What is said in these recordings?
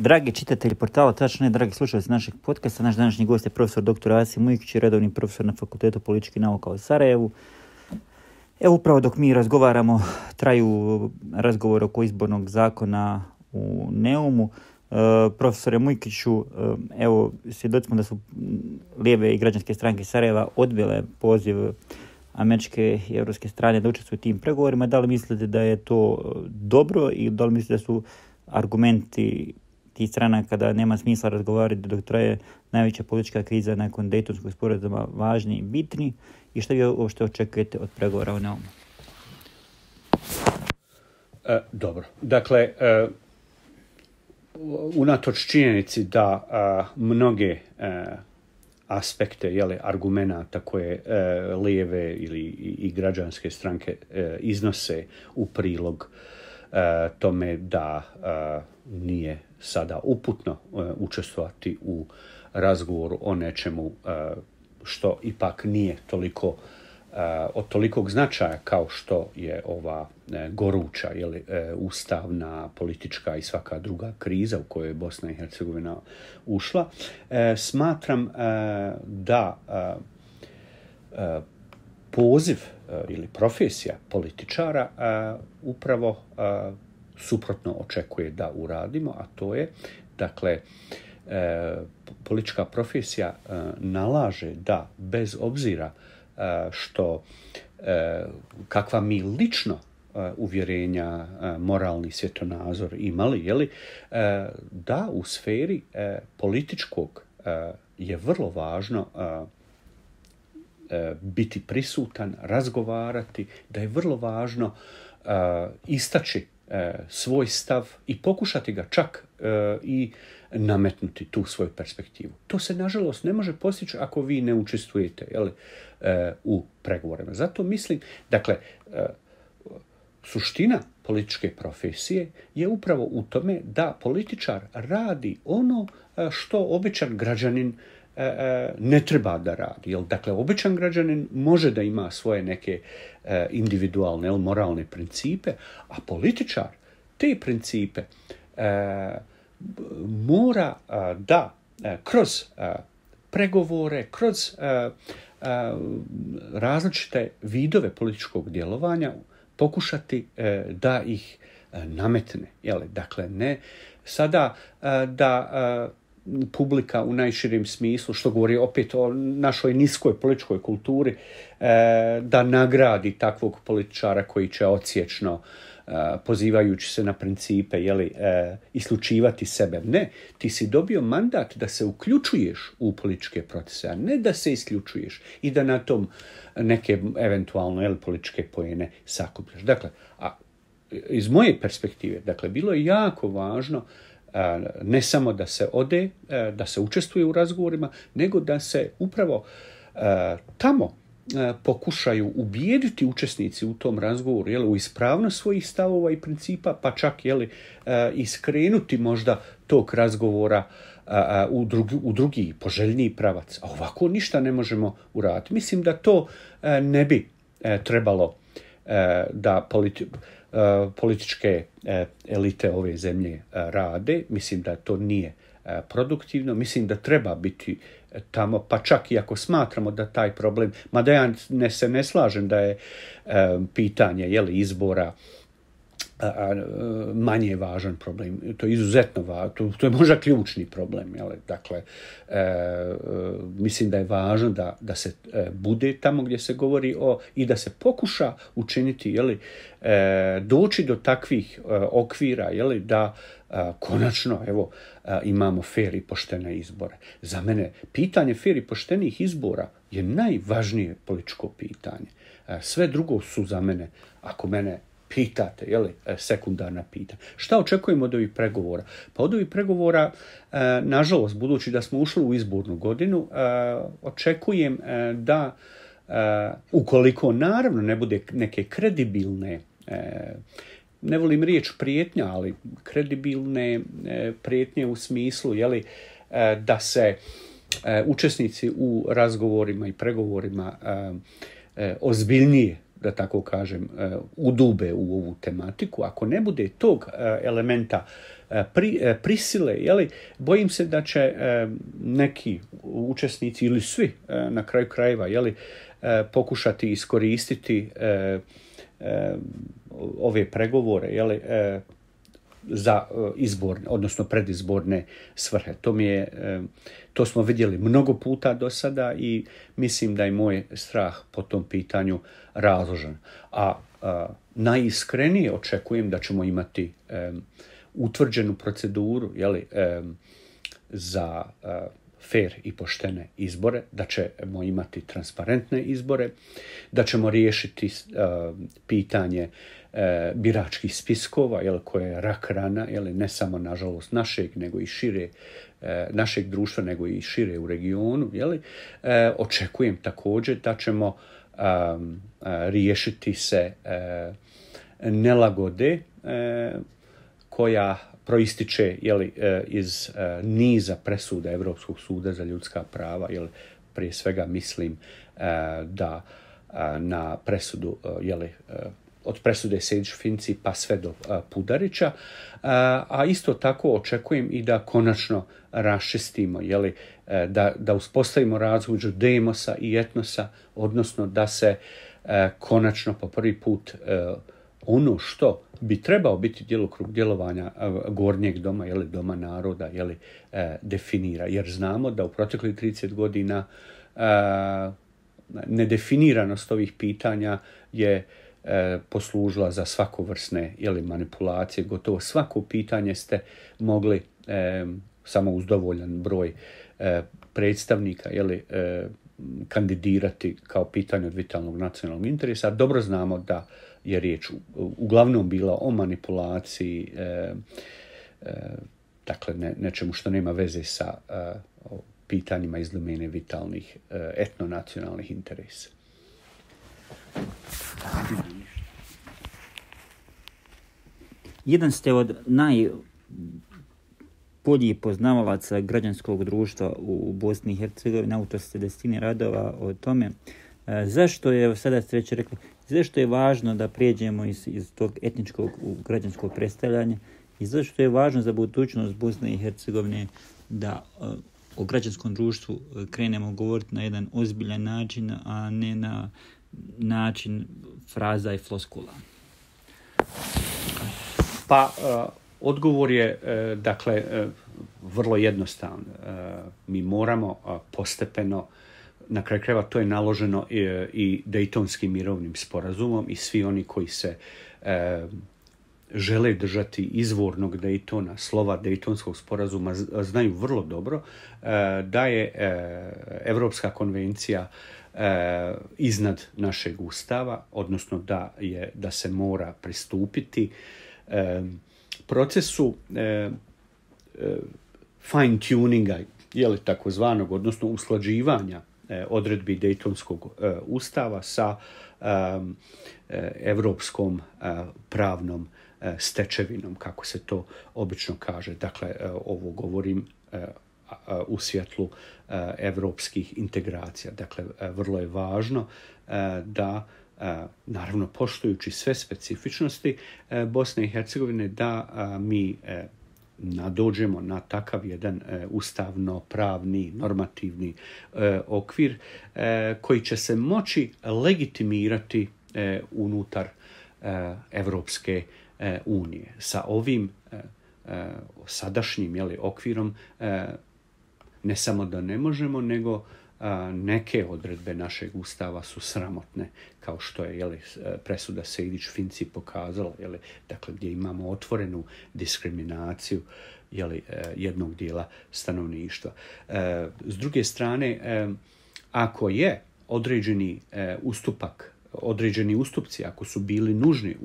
Dragi čitatelji portala, tačno je, dragi slušalci našeg podcasta, naš današnji gost je profesor dr. Asim Mujkić, redovni profesor na Fakultetu političkih nauka u Sarajevu. Evo upravo dok mi razgovaramo, traju razgovor oko izbornog zakona u Neumu. Profesore Mujkiću, evo svjedoci smo da su lijeve i građanske stranke Sarajeva odbile poziv američke i europske strane da učestvuju u tim pregovorima. Da li mislite da je to dobro i da li mislite da su argumenti tih stranaka da nema smisla razgovarati dok traje najveća politička kriza nakon Dejtonskog sporazuma važni i bitni, i što vi uopšte očekujete od pregovora u Neumu? Dobro. Dakle, unatoč činjenici da mnoge aspekte, argumenata koje lijeve i građanske stranke iznose u prilog tome da nije sada uputno učestvovati u razgovoru o nečemu što ipak nije toliko od tolikog značaja kao što je ova goruća ustavna, politička i svaka druga kriza u kojoj je Bosna i Hercegovina ušla. Smatram da poziv ili profesija političara upravo suprotno očekuje da uradimo, a to je, dakle, politička profesija nalaže da bez obzira što kakva mi lično uvjerenja, moralni svjetonazor imali, da u sferi političkog je vrlo važno biti prisutan, razgovarati, da je vrlo važno istaći svoj stav i pokušati ga čak i nametnuti tu svoju perspektivu. To se, nažalost, ne može postići ako vi ne učestvujete u pregovorima. Zato mislim, dakle, suština političke profesije je upravo u tome da političar radi ono što običan građanin ne treba da radi. Dakle, običan građanin može da ima svoje neke individualne, moralne principe, a političar te principe mora da kroz pregovore, kroz različite vidove političkog djelovanja pokušati da ih nametne. Dakle, ne sada da publika u najširem smislu, što govori opet o našoj niskoj političkoj kulturi, da nagradi takvog političara koji će odsječno, pozivajući se na principe, isključivati sebe. Ne, ti si dobio mandat da se uključuješ u političke procese, a ne da se isključuješ i da na tom neke eventualno političke poene sakupljaš. Dakle, iz moje perspektive, dakle, bilo je jako važno ne samo da se ode, da se učestvuje u razgovorima, nego da se upravo tamo pokušaju ubijediti učesnici u tom razgovoru u ispravnost svojih stavova i principa, pa čak i skrenuti možda tog razgovora u drugi poželjniji pravac. A ovako ništa ne možemo uraditi. Mislim da to ne bi trebalo da političke elite ove zemlje rade. Mislim da to nije produktivno. Mislim da treba biti tamo, pa čak i ako smatramo da taj problem, mada ja se ne slažem da je pitanje izbora manje važan problem. To je izuzetno važno. To je možda ključni problem. Dakle, mislim da je važno da se bude tamo gdje se govori i da se pokuša učiniti, doći do takvih okvira, da konačno, imamo fer i poštene izbore. Za mene pitanje fer i poštenih izbora je najvažnije političko pitanje. Sve drugo su za mene, ako mene pitate, sekundarna pitanja. Šta očekujemo od ovih pregovora? Pa od ovih pregovora, nažalost, budući da smo ušli u izbornu godinu, očekujem da, ukoliko naravno ne bude neke kredibilne, ne volim riječ prijetnja, ali kredibilne prijetnje u smislu, da se učesnici u razgovorima i pregovorima ozbiljnije da tako kažem, udube u ovu tematiku, ako ne bude tog elementa prisile, bojim se da će neki učesnici ili svi na kraju krajeva pokušati iskoristiti ove pregovore za izborne, odnosno predizborne svrhe. To smo vidjeli mnogo puta do sada i mislim da je moj strah po tom pitanju razložan. A najiskrenije očekujem da ćemo imati utvrđenu proceduru za fer i poštene izbore, da ćemo imati transparentne izbore, da ćemo riješiti pitanje biračkih spiskova, koje je rak rana, ne samo nažalost našeg, nego i šire, našeg društva, nego i šire u regionu. Očekujem također da ćemo riješiti se nelagode koja proističe iz niza presuda Europskog suda za ljudska prava, prije svega mislim da na presudu od presude Sejdić-Finci pa sve do Pudarića, a isto tako očekujem i da konačno raščistimo, da uspostavimo razliku između demosa i etnosa, odnosno da se konačno po prvi put ono što bi trebao biti djelokrug djelovanja gornjeg doma, doma naroda, definira. Jer znamo da u proteklih 30 godina nedefiniranost ovih pitanja je poslužila za svakovrsne manipulacije. Gotovo svako pitanje ste mogli samo uz dovoljan broj predstavnika kandidirati kao pitanje od vitalnog nacionalnog interesa. Dobro znamo da je riječ uglavnom bila o manipulaciji, dakle nečemu što nema veze sa pitanjima iz domene vitalnih etnonacionalnih interesa. Jedan ste od najboljih poznavalaca građanskog društva u Bosni i Hercegovini, autor ste desetine radova o tome. Zašto je, sada ste već rekli, zašto je važno da prijeđemo iz tog etničkog u građanskog predstavljanja i zašto je važno za budućnost Bosne i Hercegovine da o građanskom društvu krenemo govoriti na jedan ozbiljan način, a ne na način fraza i floskula? Pa, odgovor je, vrlo jednostavan. Mi moramo postepeno, na kraju krajeva to je naloženo i Dejtonskim mirovnim sporazumom i svi oni koji se žele držati izvornog Dejtona, slova Dejtonskog sporazuma, znaju vrlo dobro da je Europska konvencija iznad našeg ustava, odnosno da se mora pristupiti procesu fine tuninga, takozvanog, odnosno usklađivanja odredbi Dejtonskog ustava sa europskom pravnom stečevinom, kako se to obično kaže. Dakle, ovo govorim u svjetlu europskih integracija. Dakle, vrlo je važno da, naravno poštujući sve specifičnosti Bosne i Hercegovine, da mi nadođemo na takav jedan ustavno-pravni, normativni okvir koji će se moći legitimirati unutar Evropske unije. Sa ovim sadašnjim okvirom ne samo da ne možemo, nego neke odredbe našeg ustava su sramotne, kao što je presuda Sejdić-Finci pokazala, dakle, gdje imamo otvorenu diskriminaciju jednog dijela stanovništva. S druge strane, ako je određeni ustupci, ako su bili nužni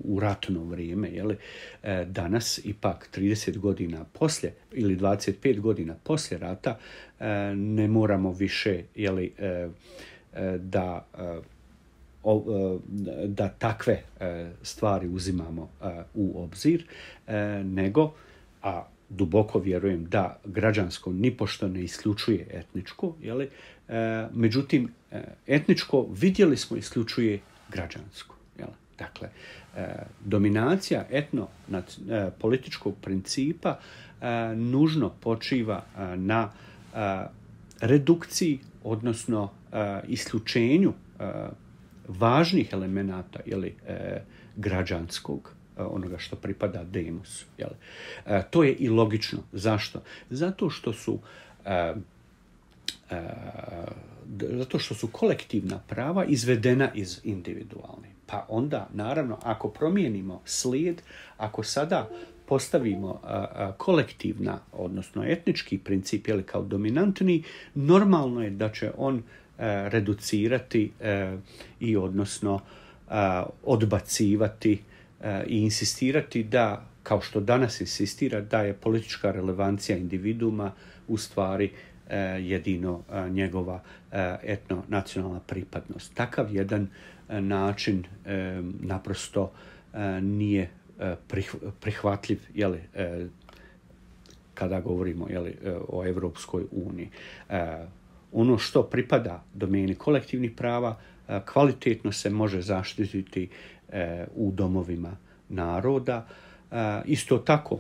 u ratno vrijeme, danas ipak 30 godina poslije ili 25 godina poslije rata ne moramo više da takve stvari uzimamo u obzir, nego, a duboko vjerujem da građansko nipošto ne isključuje etničko, međutim, etničko, vidjeli smo, isključuje građansku. Jel? Dakle, dominacija političkog principa nužno počiva na redukciji, odnosno isključenju važnih elemenata građanskog, onoga što pripada demusu. To je i logično. Zašto? Zato što su kolektivna prava izvedena iz individualne. Pa onda, naravno, ako promijenimo slijed, ako sada postavimo kolektivna, odnosno etnički princip kao dominantni, normalno je da će on reducirati i odnosno odbacivati i insistirati da, kao što danas insistira, da je politička relevancija individuuma u stvari jedino njegova etno-nacionalna pripadnost. Takav jedan način naprosto nije prihvatljiv kada govorimo o Europskoj uniji. Ono što pripada domeni kolektivnih prava kvalitetno se može zaštititi u domovima naroda. Isto tako,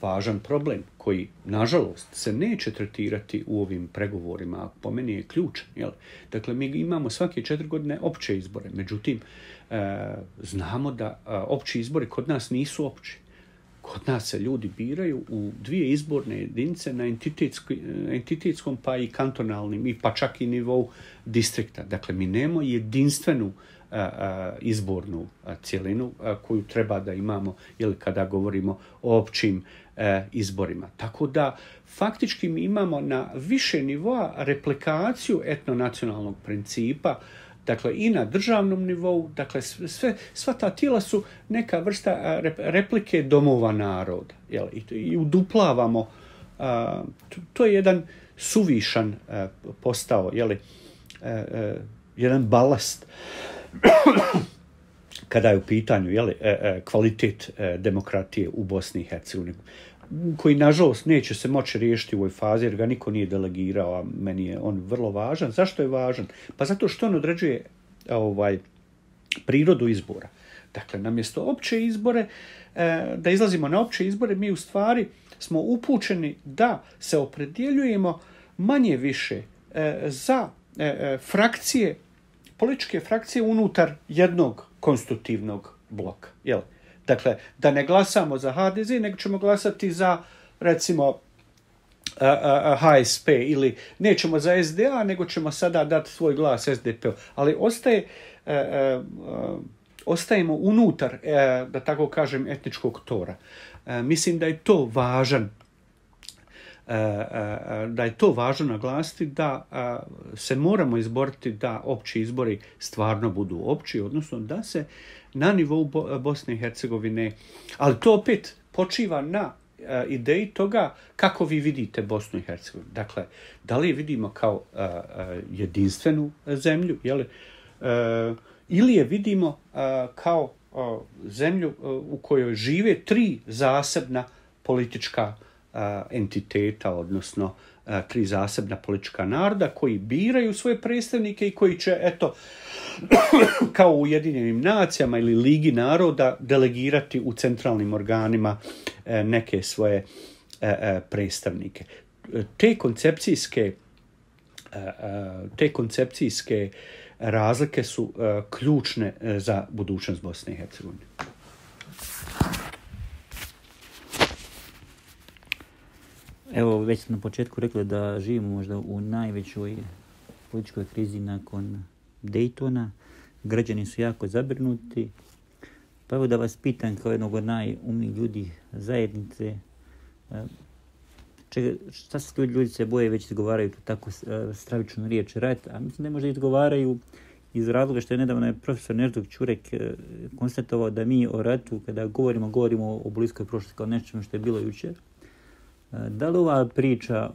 važan problem koji, nažalost, se neće tretirati u ovim pregovorima, a po meni je ključan. Dakle, mi imamo svake 4 godine opće izbore. Međutim, znamo da opći izbori kod nas nisu opći. Kod nas se ljudi biraju u 2 izborne jedinice na entitetskom pa i kantonalnim i pa čak i nivou distrikta. Dakle, mi nemamo jedinstvenu izbornu cjelinu koju treba da imamo kada govorimo o općim izborima. Tako da faktički mi imamo na više nivoa replikaciju etnonacionalnog principa, dakle i na državnom nivou, dakle sva ta tijela su neka vrsta replike domova naroda. I uduplavamo, to je jedan suvišan postao, jedan balast kada je u pitanju kvalitet demokratije u Bosni i Hercegovini, koji nažalost neće se moći riješiti u ovoj fazi jer ga niko nije delegirao, a meni je on vrlo važan. Zašto je važan? Pa zato što on određuje prirodu izbora. Dakle, namjesto opće izbore, da izlazimo na opće izbore, mi u stvari smo upućeni da se opredjeljujemo manje više za frakcije, političke frakcije unutar jednog konstitutivnog bloka. Dakle, da ne glasamo za HDZ, nego ćemo glasati za, recimo, HSP ili nećemo za SDA, nego ćemo sada dati svoj glas SDP-u. Ali ostajemo unutar, da tako kažem, etničkog tora. Mislim da je to važno naglasiti, da se moramo izboriti da opći izbori stvarno budu opći, odnosno da se na nivou Bosne i Hercegovine, ali to opet počiva na ideji toga kako vi vidite Bosnu i Hercegovinu. Dakle, da li je vidimo kao jedinstvenu zemlju, ili je vidimo kao zemlju u kojoj žive 3 zasebna politička entiteta, odnosno 3 zasebna politička naroda koji biraju svoje predstavnike i koji će, kao u Ujedinjenim nacijama ili Ligi naroda, delegirati u centralnim organima neke svoje predstavnike. Te koncepcijske razlike su ključne za budućnost Bosne i Hercegovine. Evo, već sam na početku rekla da živimo možda u najvećoj političkoj krizi nakon Daytona. Građani su jako zabrinuti. Pa evo da vas pitam kao jednog od najumnijih ljudi zajednice, šta se ljudi se boje, već izgovaraju tako stravičnu riječ rat, a mislim da možda izgovaraju iz razloga što je nedavno profesor Neždok Čurek konstatovao da mi o ratu, kada govorimo o bliskoj prošlosti kao nečemu što je bilo jučer. Da li ova priča,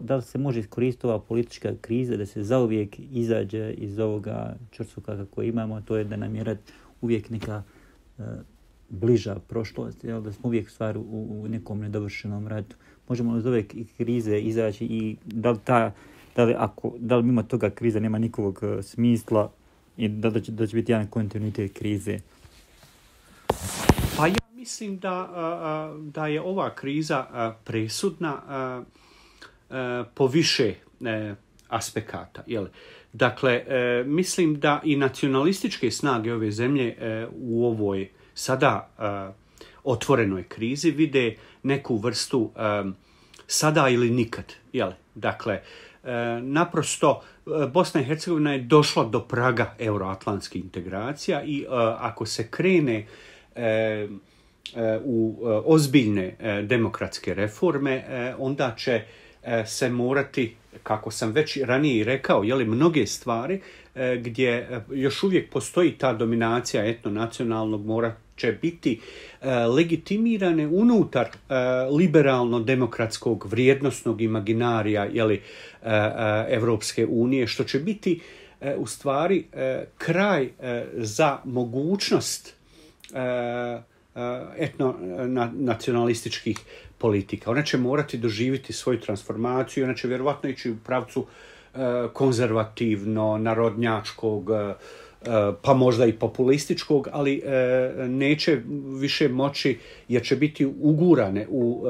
da li se može iskoristiti ova politička kriza da se zauvijek izađe iz ovoga čvrsuka kako imamo, to je da nam je rat uvijek neka bliža prošlost, da smo uvijek stvar u nekom nedovršenom ratu. Možemo li iz ove krize izaći i da li ta da li mimo toga kriza nema nikakvog smisla i da će biti jedan kontinuitet krize? Pa ja mislim da je ova kriza presudna po više aspekata. Dakle, mislim da i nacionalističke snage ove zemlje u ovoj sada otvorenoj krizi vide neku vrstu sada ili nikad. Dakle, naprosto Bosna i Hercegovina je došla do praga euroatlantskih integracija i ako se krene u ozbiljne demokratske reforme, onda će se morati, kako sam već ranije rekao, mnoge stvari gdje još uvijek postoji ta dominacija etnonacionalnog morat će biti legitimirane unutar liberalno-demokratskog vrijednosnog imaginarija Evropske unije, što će biti u stvari kraj za mogućnost etnonacionalističkih politika. Ona će morati doživjeti svoju transformaciju, ona će vjerovatno ići u pravcu konzervativno, narodnjačkog, pa možda i populističkog, ali neće više moći, jer će biti ugurane u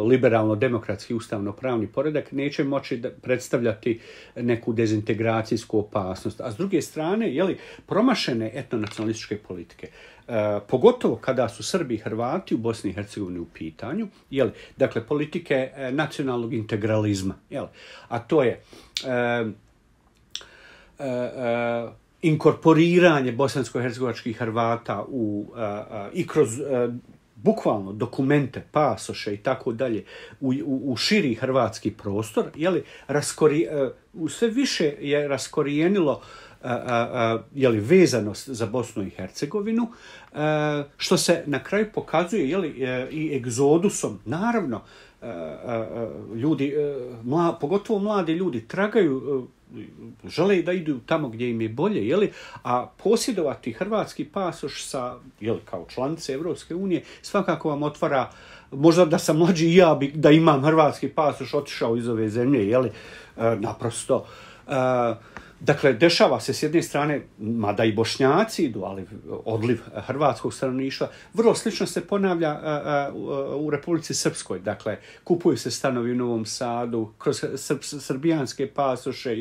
liberalno-demokratski ustavno-pravni poredak, neće moći predstavljati neku dezintegracijsku opasnost. A s druge strane, promašene etnonacionalističke politike, pogotovo kada su Srbi i Hrvati u Bosni i Hercegovini u pitanju, dakle, politike nacionalnog integralizma, a to je inkorporiranje bosansko-hercegovačkih Hrvata i kroz bukvalno dokumente, pasoše i tako dalje u širi hrvatski prostor, sve više je raskorijenilo vezanost za Bosnu i Hercegovinu, što se na kraju pokazuje i egzodusom. Naravno, ljudi, pogotovo mladi ljudi, tragaju, žele da idu tamo gdje im je bolje, a posjedovati hrvatski pasoš kao članice Evropske unije svakako vam otvara, možda da sam mlađi i ja da imam hrvatski pasoš otišao iz ove zemlje, naprosto. Dakle, dešava se s jedne strane, mada i Bošnjaci idu, ali odliv hrvatskog stanovništva. Vrlo slično se ponavlja u Republici Srpskoj. Dakle, kupuju se stanovi u Novom Sadu, kroz srbijanske pasoše.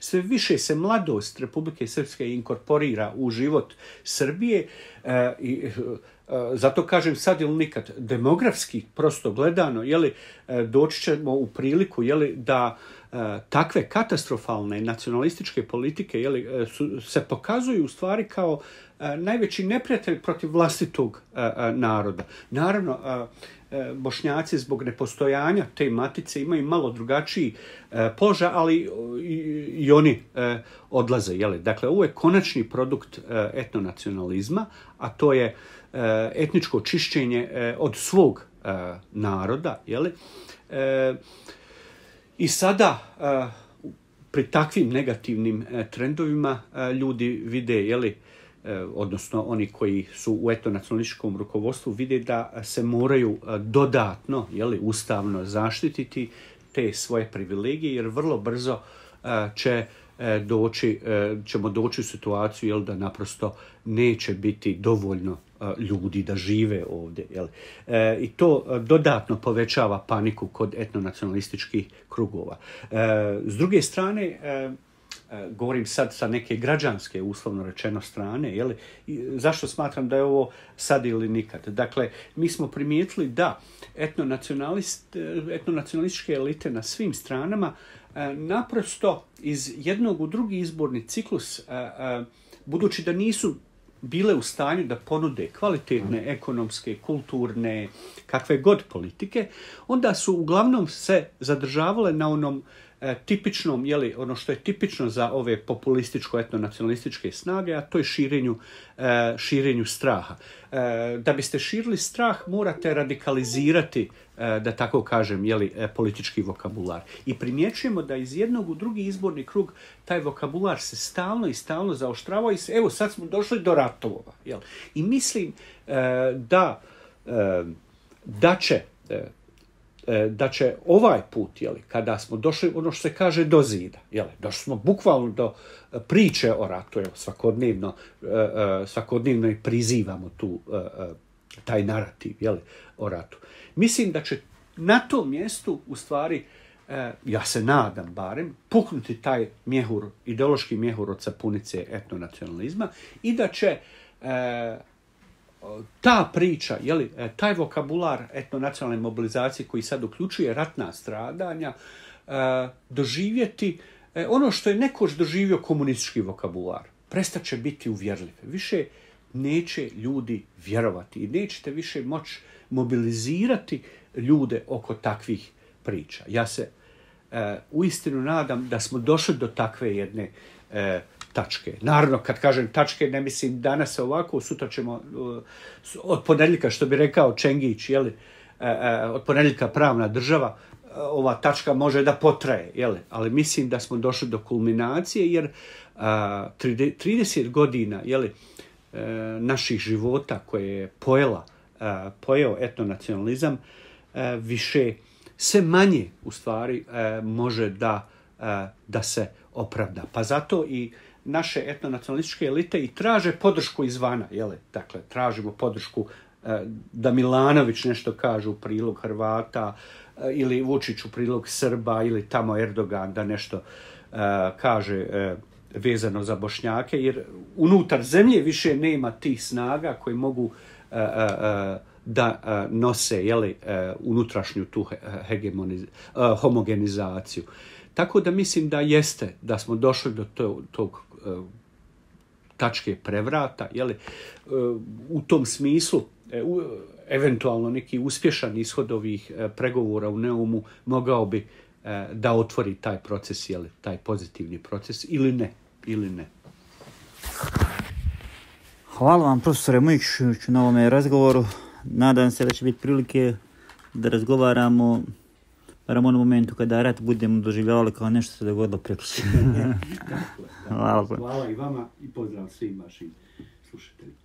Sve više se mladost Republike Srpske inkorporira u život Srbije i zato kažem sad ili nikad, demografski prosto gledano, doći ćemo u priliku da takve katastrofalne nacionalističke politike se pokazuju u stvari kao najveći neprijatelj protiv vlastitog naroda. Naravno, Bošnjaci zbog nepostojanja te matice imaju malo drugačiji položaj, ali i oni odlaze. Dakle, ovo je konačni produkt etnonacionalizma, a to je etničko čišćenje od svog naroda. I sada pri takvim negativnim trendovima ljudi vide, odnosno oni koji su u etnonacionalističkom rukovodstvu vide da se moraju dodatno, ustavno zaštititi te svoje privilegije, jer vrlo brzo ćemo doći u situaciju da naprosto neće biti dovoljno ljudi da žive ovdje. I to dodatno povećava paniku kod etnonacionalističkih krugova. S druge strane, govorim sad sa neke građanske, uslovno rečeno, strane, zašto smatram da je ovo sad ili nikad? Dakle, mi smo primijetili da etnonacionalističke elite na svim stranama naprosto iz jednog u drugi izborni ciklus, budući da nisu bile u stanju da ponude kvalitetne ekonomske, kulturne, kakve god politike, onda su uglavnom se zadržavale na onom tipičnom, ono što je tipično za ove populističko-etnonacionalističke snage, a to je širenju straha. Da biste širili strah, morate radikalizirati, da tako kažem, politički vokabular. I primjećujemo da iz jednog u drugi izborni krug taj vokabular se stalno zaoštravao i evo sad smo došli do ratova. I mislim da će da će ovaj put, kada smo došli, ono što se kaže, do zida, došli smo bukvalno do priče o ratu, svakodnevno i prizivamo taj narativ, o ratu. Mislim da će na tom mjestu, u stvari, ja se nadam barem, puknuti taj mjehur, ideološki mjehur od sapunice etnonacionalizma i da će ta priča, taj vokabular etnonacionalne mobilizacije koji sad uključuje ratna stradanja, doživjeti ono što je nekoć doživio komunistički vokabular. Prestat će biti uvjerljiv. Više neće ljudi vjerovati i nećete više moći mobilizirati ljude oko takvih priča. Ja se uistinu nadam da smo došli do takve jedne tačke. Naravno, kad kažem tačke, ne mislim danas ovako, sutra ćemo od ponedjeljka, što bi rekao Čengić, od ponedjeljka pravna država, ova tačka može da potraje, ali mislim da smo došli do kulminacije, jer 30 godina naših života koje je pojeo etnonacionalizam, više sve manje u stvari može da se opravda. Pa zato i naše etnonacionalističke elite i traže podršku izvana. Dakle, tražimo podršku da Milanović nešto kaže u prilog Hrvata ili Vučić u prilog Srba ili tamo Erdogan da nešto kaže vezano za Bošnjake, jer unutar zemlje više nema tih snaga koji mogu da nose unutrašnju tu homogenizaciju. Tako da mislim da jeste, da smo došli do tog tačke prevrata, u tom smislu eventualno neki uspješan ishod ovih pregovora u Neumu mogao bi da otvori taj proces, taj pozitivni proces ili ne. Hvala vam, profesore Mujičiću, na ovome razgovoru. Nadam se da će biti prilike da razgovaramo barem u onom momentu kada rat budemo doživljavali kao nešto se dogodilo prekjučer. Hvala i vama i pozdrav svim vašim slušateljima.